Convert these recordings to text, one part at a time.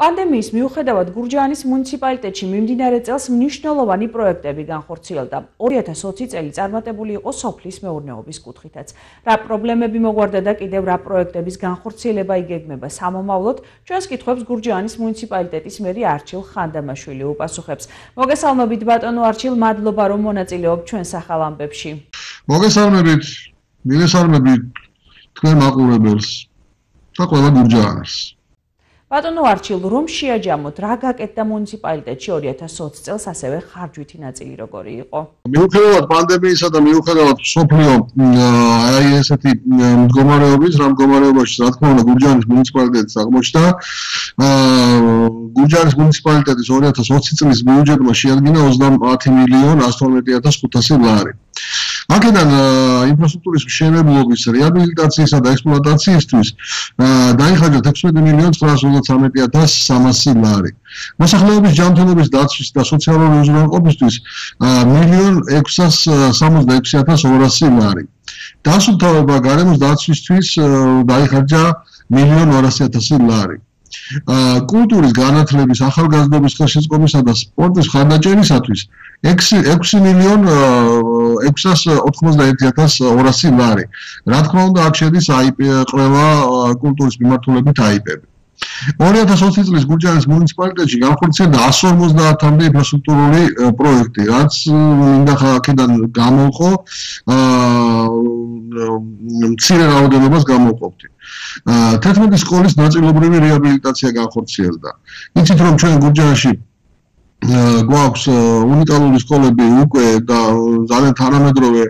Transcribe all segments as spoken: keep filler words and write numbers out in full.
პანდემიის მიუხედავად გურჯაანის მუნიციპალიტეტში მიმდინარე წელს მნიშვნელოვანი პროექტები განხორციელდა. ორი ათას ოცი წელი წარმატებული იყო სოფლის მეურნეობის კუთხითაც. რა პრობლემები მოგვარდა და კიდევ რა პროექტების განხორციელება იგეგმება სამომავლოდ, ჩვენს კითხვებს გურჯაანის მუნიციპალიტეტის მერი არჩილ ხანდამაშვილი უპასუხებს. მოგესალმებით ბატონო არჩილ, მადლობა რომ მონაწილეობთ ჩვენს ახალ ამბებში. მოგესალმებით, მივესალმებით თქვენ მაყურებელს და ყველა გურჯაანელს. ბატონო არჩილ, რომ შეაჯამოთ, რა გაკეთდა მუნიციპალიტეტში ორი ათას ოცი წელს, ასევე ხარჯვითი ნაწილი როგორი იყო? მიუხედავად პანდემიისა და მიუხედავად მსოფლიო აი ესეთი მდგომარეობის, რა მდგომარეობაში, რა თქმა უნდა, გურჯაანის მუნიციპალიტეტს აღმოჩნდა. გურჯაანის მუნიციპალიტეტის ორი ათას ოცი წლის ბიუჯეტმა შეადგინა ოცდაათი მილიონ ათას თორმეტი ათას ხუთასი ლარი. აქედან ინფრასტრუქტურის მშენებლობის, რეაბილიტაციისა და ექსპლუატაციისთვის დაიხარჯა ექვსმეტი მილიონ ცხრაას ოცდათვრამეტი ათას სამასი ლარი. მოსახლეობის ჯანმრთელობის დაცვის და სოციალური უზრუნველყოფისთვის მილიონ ექვსას სამოცდაექვსი ათას ორასი ლარი. დასუფთავება გარემოს დაცვისთვის დაიხარჯა მილიონ ორასი ათასი ლარი. კულტურის განათლების, ახალგაზრდობის ხელშეწყობისა და სპორტის მხარდაჭერისათვის ექვსი მილიონ ექვსას ოთხმოცდაერთი ათას ორასი ლარი. რა თქმა უნდა, აქ შედის ყველა კულტურის მიმართულებით აიპები. ორი ათას ოცი წლის გურჯაანის მუნიციპალიტეტში განხორციელდა εκατს ორმოცდაათამდე ინფრასტრუქტურული პროექტი, რაც მინდა აქედან გამოვყო მცირე რაოდენობას გამოვყოფდი. თერთმეტი სკოლის ნაწილობრივი რეაბილიტაცია განხორციელდა. იცით რომ ჩვენ გურჯაანში გვაქვს უნიკალური სკოლები უკვე და ძალიან თანამედროვე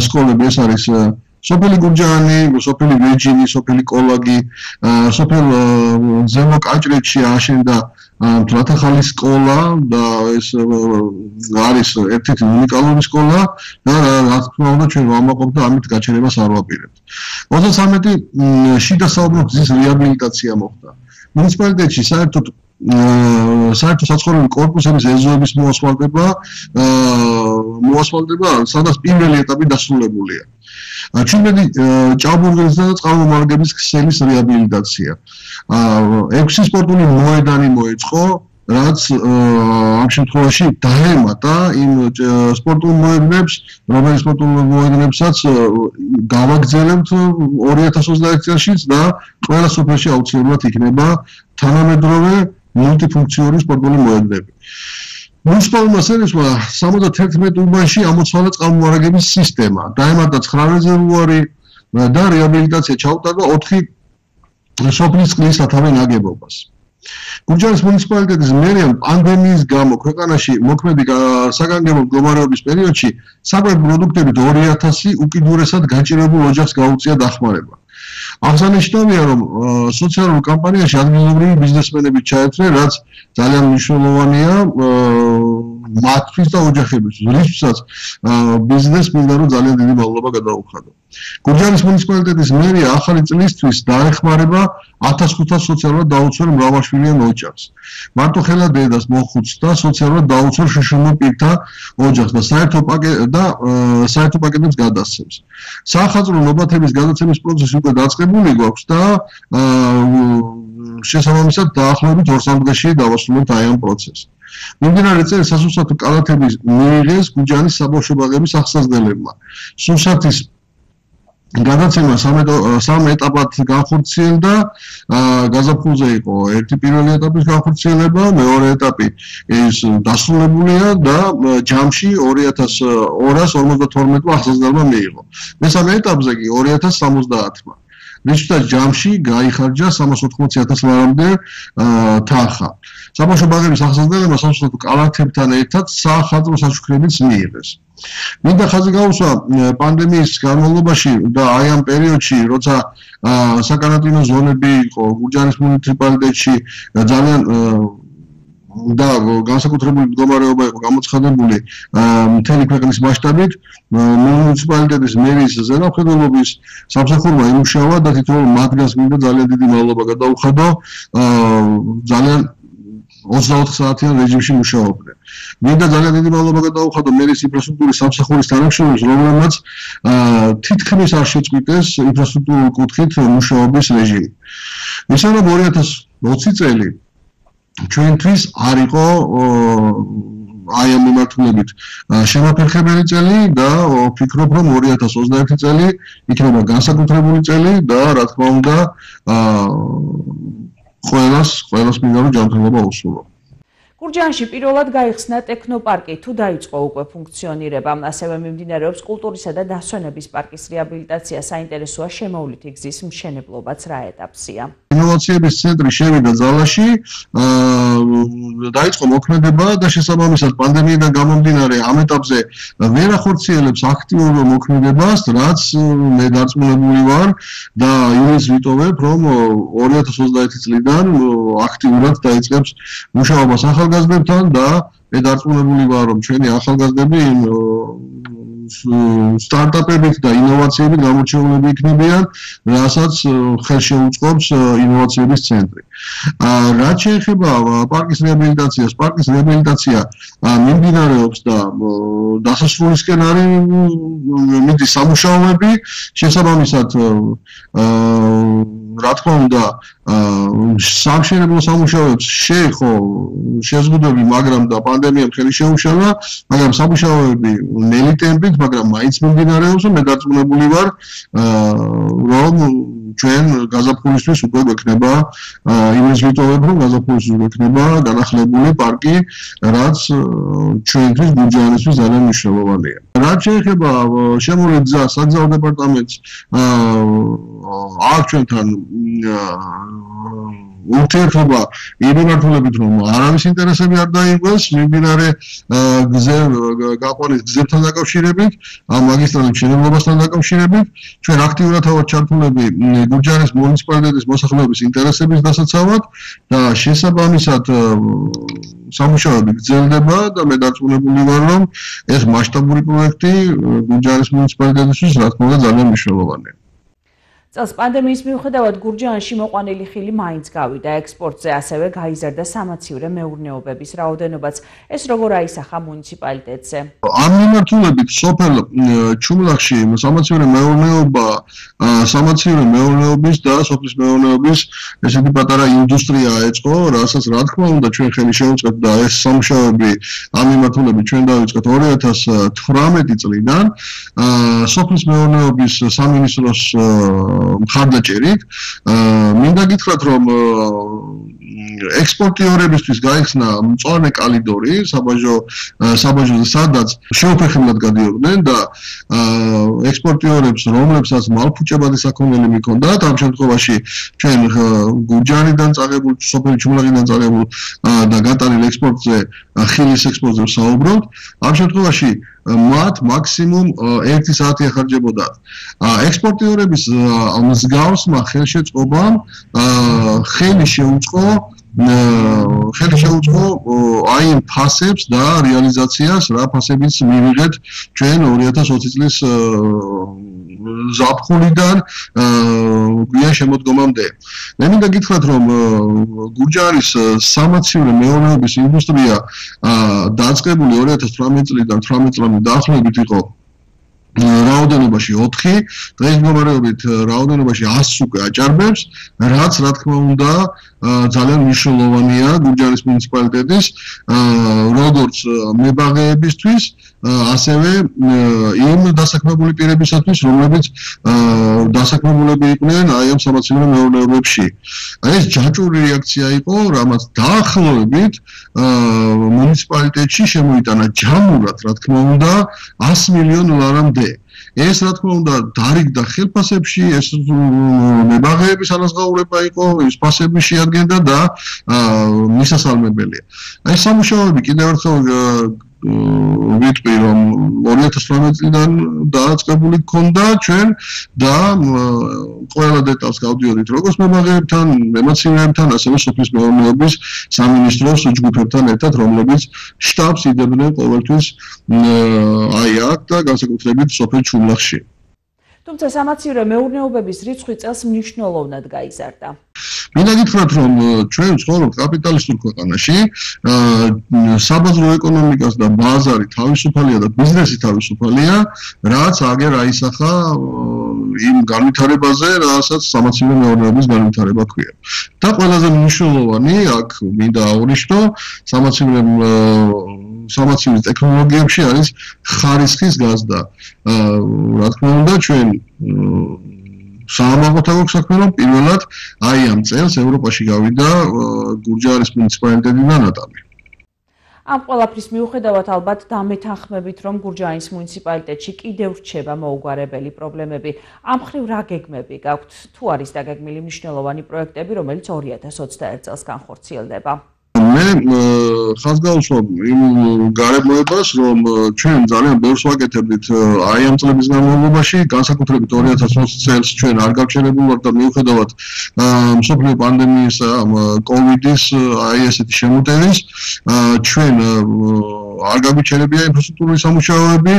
სკოლები, ეს არის სოფელი გურჯაანი, სოფელი ვეჯინი, სოფელი კოლაგი, სოფელ ზემო კაჭრეთში აშენდა მთლათახალი სკოლა და ეს არის ერთ-ერთი უნიკალური სკოლა და რა თქმა უნდა ჩვენ ვამაყობთ და ამით გაჩერებას არ ვაპირებთ. ოცდათვრამეტი შიდა საუბნო გზის რეაბილიტაცია მოხდა. მუნიციპალიტეტში საერთოდ საერთო საცხოვრებელი კორპუსების ეზოების მოასფალტება მოასფალტება სადაც პირველი ეტაპი დასრულებულია. ჩვენი ჭაბურღილისა და წყალმომარაგების ქსელის რეაბილიტაცია. ექვსი სპორტული მოედანი მოეწყო, რაც ამ შემთხვევაში დაემატა იმ სპორტულ მოედნებს, რომელიც სპორტულ მოედნებსაც გავაგრძელებთ ორი ათას ოცდაერთი წელშიც და ყველა სოფელში აუცილებლად იქნება თანამედროვე მულტიფუნქციური სპორტული მოედნები. მუნიციპალურმა სერვისმა სამოცდათერთმეტ უბანში ამოცვალა წყალმომარაგების სისტემა, დაემატა ცხრა რეზერვუარი და რეაბილიტაცია ჩაუტარდა ოთხი სოფლის წყლის სათავე ნაგებობას. გურჯაანის მუნიციპალიტეტის მერიამ პანდემიის გამო ქვეყანაში მოქმედი საგანგებო მდგომარეობის პერიოდში საკვებ პროდუქტებით ორი ათასი უკიდურესად გაჭირებულ ოჯახს გაუწია დახმარება. აღსანიშნავია, რომ სოციალურ კამპანიაში ადგილობრივი ბიზნესმენები ჩაერთვნენ, რაც ძალიან მნიშვნელოვანია მათთვის და ოჯახებისთვის, რისთვისაც ბიზნესს მინდა რომ ძალიან დიდი მადლობა გადაუხადო. გურჯაანის მუნიციპალიტეტის მერია ახალი წლისთვის დაეხმარება ათას ხუთას სოციალურად დაუცველ მრავალშვილიან ოჯახს. მარტო ხელა დედას მოხუცდა სოციალურად დაუცველ შშმ პირთა ოჯახს და საერთო პაკეტ და საერთო პაკეტებს გადასცემს. საახალწლო ნობათების გადაცემის პროცესი უკვე დაწყებული გვაქვს და შესაბამისად დაახლოებით ორ სამ დღეში დავასრულებთ აი ამ პროცესს. მიმდინარე წელს სასურსათო კალათები მიიღეს გურჯაანის საბავშვო ბაღების აღსაზრდელებმა. სურსათის გადაცემა სამ ეტაპად განხორციელდა, გაზაფხულზე იყო ერთი პირველი ეტაპის განხორციელება, მეორე ეტაპი ის დასრულებულია და ჯამში ორი ათას ორას ორმოცდათორმეტმა აღსაზრდელმა მიიღო. მესამე ეტაპზე კი ორი ათას სამოცდაათმა. რისთვისაც ჯამში გაიხარჯა სამას ოთხმოცი ათას ლარამდე თანხა. საბავშვო ბაღების აღსაზრდელებმა სასურსათო კალათებთან ერთად საახალწლო საჩუქრებიც მიიღეს. მინდა ხაზი გაუსვა პანდემიის განმავლობაში და აი ამ პერიოდში, როცა საკარანტინო ზონები იყო გურჯაანის მუნიციპალიტეტში ძალიან და განსაკუთრებული მდგომარეობა იყო გამოცხადებული მთელი ქვეყნის მასშტაბით, მუნიციპალიტეტის მერის ზედამხედველობის სამსახურმა იმუშავა და თითოეულ მათგანს მინდა ძალიან დიდი მადლობა გადაუხადო, ძალიან ოცდაოთხ საათიან რეჟიმში მუშაობდნენ. მინდა ძალიან დიდი მადლობა გადაუხადო მერის ინფრასტრუქტურის სამსახურის თანამშრომლებს, რომლებმაც თითქმის არ შეწყვიტეს ინფრასტრუქტურული კუთხით მუშაობის რეჟიმი. ისე რომ ორი ათას ოცი წელი ჩვენთვის არ იყო აი ამ მიმართულებით შემაფერხებელი წელი და ვფიქრობ რომ ორი ათას ოცდაერთი წელი იქნება განსაკუთრებული წელი და რა თქმა უნდა ყველას ყველას მინდა რომ ჯანმრთელობა უსურვო. გურჯაანში პირველად გაიხსნა ტექნოპარკი, თუ დაიწყო უკვე ფუნქციონირება, ასევე მიმდინარეობს კულტურისა და დასვენების პარკის რეაბილიტაცია, საინტერესოა შემოვლითი გზის მშენებლობაც რა ეტაპზეა. ინოვაციების ცენტრი შევიდა ძალაში, დაიწყო მოქმედება და შესაბამისად პანდემიიდან გამომდინარე ამ ეტაპზე ვერ ახორციელებს აქტიურ მოქმედებას, რაც მე დარწმუნებული ვარ და იმის ვიტოვებ, რომ ორი ათას ოცდაერთი წლიდან აქტიურად დაიწყებს მუშაობას ახალგაზრდებთან და მე დარწმუნებული ვარ, რომ ჩვენი ახალგაზრდები სტარტაპებით და ინოვაციებით გამორჩეულები იქნებიან, რასაც ხელს შეუწყობს ინოვაციების ცენტრი. რაც შეეხება პარკის რეაბილიტაციას, პარკის რეაბილიტაცია მიმდინარეობს და დასასრულისკენ არის მიდის სამუშაოები, შესაბამისად რა თქმა უნდა სამშენებლო სამუშაოებს შეეხო შეზღუდვები, მაგრამ და პანდემიამ ხელი შეუშალა, მაგრამ სამუშაოები ნელი ტემპით, მაგრამ მაინც მიმდინარეობს და მე დარწმუნებული ვარ, რომ ჩვენ გაზაფხულისთვის უკვე გვექნება იმის ვიტოვებ, რომ გაზაფხულისთვის გვექნება განახლებული პარკი, რაც ჩვენთვის გურჯაანისთვის ძალიან მნიშვნელოვანია. რაც შეეხება შემოვლით გზას, საგზაო დეპარტამენტს აქ ჩვენთან ურთიერთობა იმმიმართულებით, რომ არავის ინტერესები არ დაიყვეს, მიმდინარე გაყვანის გზებთან დაკავშირებით, მაგისტრალის მშენებლობასთან დაკავშირებით, ჩვენ აქტიურად ვართ ჩართულები გურჯაანის მუნიციპალიტეტის მოსახლეობის ინტერესების დასაცავად და შესაბამისად სამუშაოები გრძელდება და მე დარწმუნებული ვარ, რომ ეს მასშტაბური პროექტი გურჯაანის მუნიციპალიტეტისთვის რა თქმა უნდა ძალიან მნიშვნელოვანია. წელს პანდემიის მიუხედავად გურჯაანში მოყვანილი ხილი მაინც გავიდა ექსპორტზე, ასევე გაიზარდა სამაცივრე მეურნეობების რაოდენობაც. ეს როგორ აისახა მუნიციპალიტეტზე? ამ მიმართულებით სოფელ ჩუმლახში სამაცივრე მეურნეობა, სამაცივრე მეურნეობის და სოფლის მეურნეობის ესეთი პატარა ინდუსტრია ეწყო, რასაც რა თქმა უნდა ჩვენ ხელი შევუწყებთ და ეს სამუშაოები ამ მიმართულებით ჩვენ დავიწყეთ ორი ათას თვრამეტი წლიდან სოფლის მეურნეობის სამინისტროს მხარდაჭერით. მინდა გითხრათ, რომ ექსპორტიორებისთვის გაიხსნა მწვანე კალიდორი საბაჟო საბაჟოზე, სადაც შეუფერხებლად გადიოდნენ და ექსპორტიორებს, რომლებსაც მალფუჭებადი საქონელი მიქონდათ, ამ შემთხვევაში ჩვენ გურჯაანიდან წაღებულ, სოფელი ჩუმლაღიდან წაღებულ და გატანილ ექსპორტზე, ხილის ექსპორტზე ვსაუბრობთ, ამ შემთხვევაში მათ მაქსიმუმ ერთი საათი ახარჯებოდათ. ექსპორტიორების მსგავსმა ხელშეწყობამ ხელი შეუწყო ხელი შეუწყო აი იმ ფასებს და რეალიზაციას, რა ფასებიც მივიღეთ ჩვენ ორი ათას ოცი წლის ზაფხულიდან გვიან შემოდგომამდე. მე მინდა გითხრათ, რომ გურჯაანის სამაცივრე მეურნეობის ინდუსტრია დაწყებული ორი ათას თვრამეტი წლიდან თვრამეტ წლამდე დაახლოებით იყო რაოდენობაში ოთხი, დღეს მდგომარეობით რაოდენობაში ასს უკვე აჭარბებს, რაც რა თქმა უნდა ძალიან მნიშვნელოვანია გურჯაანის მუნიციპალიტეტის როგორც მებაღეებისთვის, ასევე იმ დასაქმებული პირებისათვის, რომლებიც დასაქმებულები იყვნენ აი ამ სამაცივრე მეურნეობებში. ეს ჯაჭვური რეაქცია იყო, რამაც დაახლოებით მუნიციპალიტეტში შემოიტანა ჯამურად, რა თქმა უნდა, ასი მილიონი ლარამდე. ეს რა თქმა უნდა დარიგდა ხელფასებში, ეს მებაღეების ანაზღაურება იყო, ის ფასები შეადგენდა და მისასალმებელია. აი სამუშაოები კიდევ ერთხელ ვიტყვი, რომ ორი ათას თვრამეტი წლიდან დაწყებული გქონდა ჩვენ და ყველა დეტალს გავდიოდით როგორც მებაღეებთან, მემაცივეებთან, ასევე სოფლის მეურნეობის სამინისტროს ჯგუფებთან ერთად, რომლებიც შტაბს იდებდნენ ყოველთვის აი აქ და განსაკუთრებით სოფელ ჩუმლახში. თუმცა სამაცივრე მეურნეობების რიცხვი წელს მნიშვნელოვნად გაიზარდა. მინდა გითხრათ, რომ ჩვენ ვცხოვრობთ კაპიტალისტურ ქვეყანაში, საბაზრო ეკონომიკას და ბაზარი თავისუფალია და ბიზნესი თავისუფალია, რაც აგერ აისახა იმ განვითარებაზე, რასაც სამაცივრო მეურნეობის განვითარება ქვია. და ყველაზე მნიშვნელოვანი, აქ მინდა აღვნიშნო, სამაცივრო სამაცივრო ტექნოლოგიებში არის ხარისხის გაზრდა. რა თქმა უნდა, ჩვენ საამაყოთა გვაქვს საქმე, რომ პირველად აი ამ წელს ევროპაში გავიდა გურჯაანის მუნიციპალიტეტი და ნატალი. ამ ყველაფრის მიუხედავად ალბათ დამეთანხმებით, რომ გურჯაანის მუნიციპალიტეტში კიდევ რჩება მოუგვარებელი პრობლემები. ამ მხრივ რა გეგმები გაქვთ? თუ არის დაგეგმილი მნიშვნელოვანი პროექტები, რომელიც ორი ათას ოცდაერთ წელს განხორციელდება? მე ხაზს გავუსვამ იმ გარემოებას, რომ ჩვენ ძალიან ბევრს ვაკეთებდით აი ამ წლების განმავლობაში, განსაკუთრებით ორი ათას ოცი წელს ჩვენ არ გავჩერებულ ვართ და მიუხედავად მსოფლიო პანდემიისა, კოვიდის, აი ესეთი შემოტევის, ჩვენ არ გაგვიჩერებია ინფრასტრუქტურის სამუშაოები,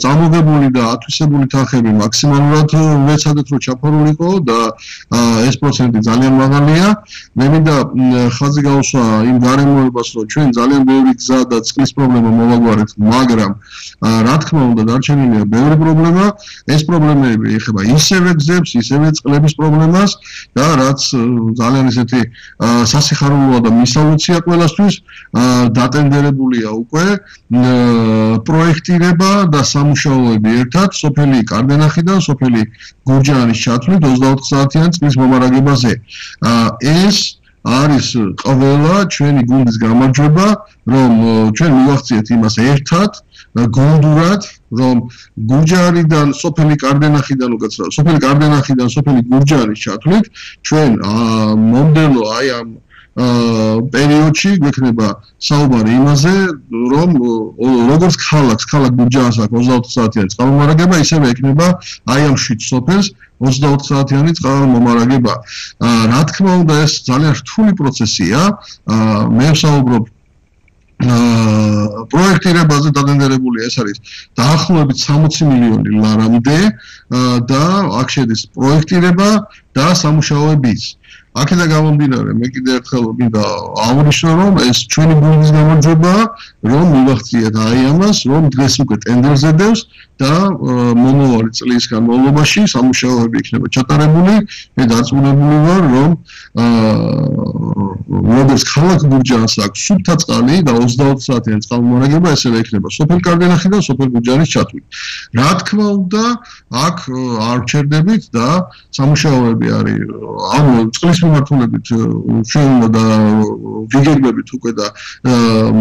წამოგებული და ათვისებული თანხები მაქსიმალურად ვეცადეთ, რომ ჩაფარულიყო და ეს პროცენტი ძალიან მაღალია. მე მინდა ხაზი გავუსვა იმ გარემოებას, რომ ჩვენ ძალიან ბევრი გზა და წყლის პრობლემა მოვაგვარეთ, მაგრამ რა თქმა უნდა დარჩენილია ბევრი პრობლემა. ეს პრობლემები ეხება ისევე გზებს, ისევე წყლების პრობლემას და რაც ძალიან ისეთი სასიხარულოა და მისალუცია ყველასთვის, დატენდერებულია უკვე პროექტირება და სამუშაოები ერთად სოფელი კარდენახიდან სოფელი გურჯაანის ჩათვლით ოცდაოთხ საათიანი წყლის მომარაგებაზე. ეს არის ყველა ჩვენი გუნდის გამარჯვება, რომ ჩვენ მივახციეთ იმას ერთად, გუნდურად, რომ გურჯაანიდან სოფელი კარდენახიდან უკაცრავ, სოფელი კარდენახიდან სოფელი გურჯაანის ჩათვლით ჩვენ მომდევნო აი ამ პერიოდში გვექნება საუბარი იმაზე, რომ როგორც ქალაქს, ქალაქ გურჯაანს აქვს ოცდაოთხ საათიანი წყალმომარაგება, ისევე ექნება აი ამ შვიდ სოფელს ოცდაოთხ საათიანი წყალმომარაგება. რა თქმა უნდა, ეს ძალიან რთული პროცესია. მე ვსაუბრობ პროექტირებაზე დადენდერებული ეს არის დაახლოებით სამოცი მილიონი ლარამდე და აქ შედის პროექტირება და სამუშაოებიც. აქედან გამომდინარე, მე კიდევ ერთხელ მინდა აღვნიშნო, რომ ეს ჩვენი გუნდის გამარჯვებაა, რომ მივახციეთ აი ამას, რომ დღეს უკვე ტენდერზე დევს და მომავალი წლის განმავლობაში სამუშაოები იქნება ჩატარებული. მე დარწმუნებული ვარ, რომ როგორც ქალაქ გურჯაანს აქვს სუფთა წყალი და ოცდაოთხ საათიანი წყალმომარაგება, ესევე იქნება სოფელ კარდენახიდან სოფელ გურჯაანის ჩათვლით. რა თქმა უნდა, აქ არ ვჩერდებით და სამუშაოები არის ამ წყლის მიმართულებით ჩვენ და ვიგებებით უკვე და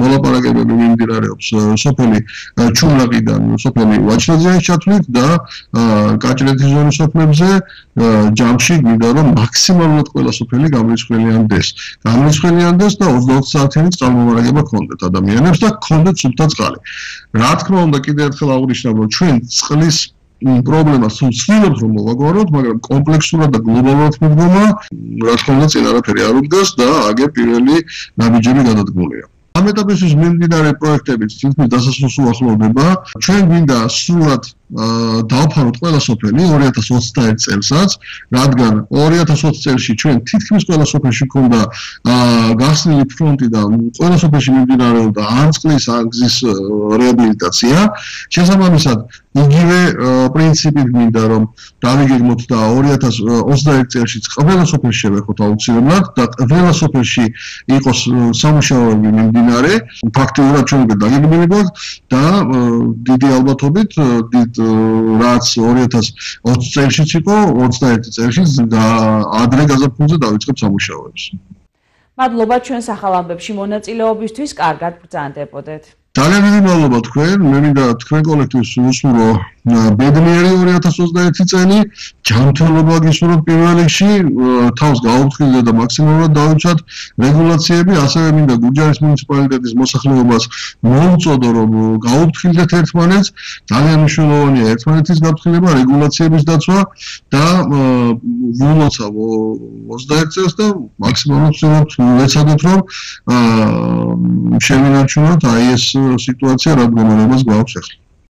მოლაპარაკებები მიმდინარეობს სოფელი ჩუმლაყიდან სოფელი ვაჩნაძენის ჩათვლით და კაჭრეთის ზონის სოფლებზე ჯამში გვინდა რომ მაქსიმალურად ყველა სოფელი გამრიცხველიანდეს. გამრიცხველიანდეს და ოცდაოთხ საათიანი წყალმომარაგება გქონდეთ ადამიანებს და გქონდეთ სუფთა წყალი. რა თქმა უნდა, კიდევ ერთხელ აღვნიშნავ, რომ ჩვენ წყლის პრობლემას ვცდილობთ რომ მოვაგვაროთ, მაგრამ კომპლექსურად და გლობალურად მიდგომა, რა თქმა უნდა, წინ არაფერი არ უდგას და აგერ პირველი ნაბიჯები გადადგმულია. ამ ეტაპისთვის მიმდინარე პროექტებიც თითქმის დასასრულს უახლოვდება. ჩვენ გვინდა სრულად დავფაროთ ყველა სოფელი ორი ათას ოცდაერთ წელსაც, რადგან ორი ათას ოცი წელში ჩვენ თითქმის ყველა სოფელში ჰქონდა გახსნილი ფრონტი და ყველა სოფელში მიმდინარეობდა ან წყლის, ან გზის რეაბილიტაცია. შესაბამისად, იგივე პრინციპით მინდა რომ დავიგეგმოთ და ორი ათას ოცდაერთ წელშიც ყველა სოფელში შევეხოთ აუცილებლად და ყველა სოფელში იყოს სამუშაოები მიმდინარე. ფაქტიურად ჩვენ უკვე დაგეგმილი გვაქვს და დიდი ალბათობით დიდ რაც ორი ათას ოცი წელშიც იყო, ოცდაერთი წელშიც და ადრე გაზაფხულზე დავიწყებ სამუშაოებს. მადლობა ჩვენ ახალ ამბებში მონაწილეობისთვის, კარგად ბრძანდებოდეთ. ძალიან დიდი მადლობა თქვენ, მე მინდა თქვენ კოლექტივს უსურვო ბედნიერი ორი ათას ოცდაერთი წელი, ჯანმრთელობა გისურვოთ პირველ რიგში, თავს გაუფრთხილდეთ და მაქსიმალურად დავიცვათ რეგულაციები, ასევე მინდა გურჯაანის მუნიციპალიტეტის მოსახლეობას მოვუწოდო, რომ გაუფრთხილდეთ ერთმანეთს, ძალიან მნიშვნელოვანია ერთმანეთის გაფრთხილება, რეგულაციების დაცვა და ვულოცავ ოცდაერთ წელს და მაქსიმალურად ვეცადოთ, რომ შევინარჩუნოთ აი ეს სიტუაცია, რა მდგომარეობას გვაქვს ახლა.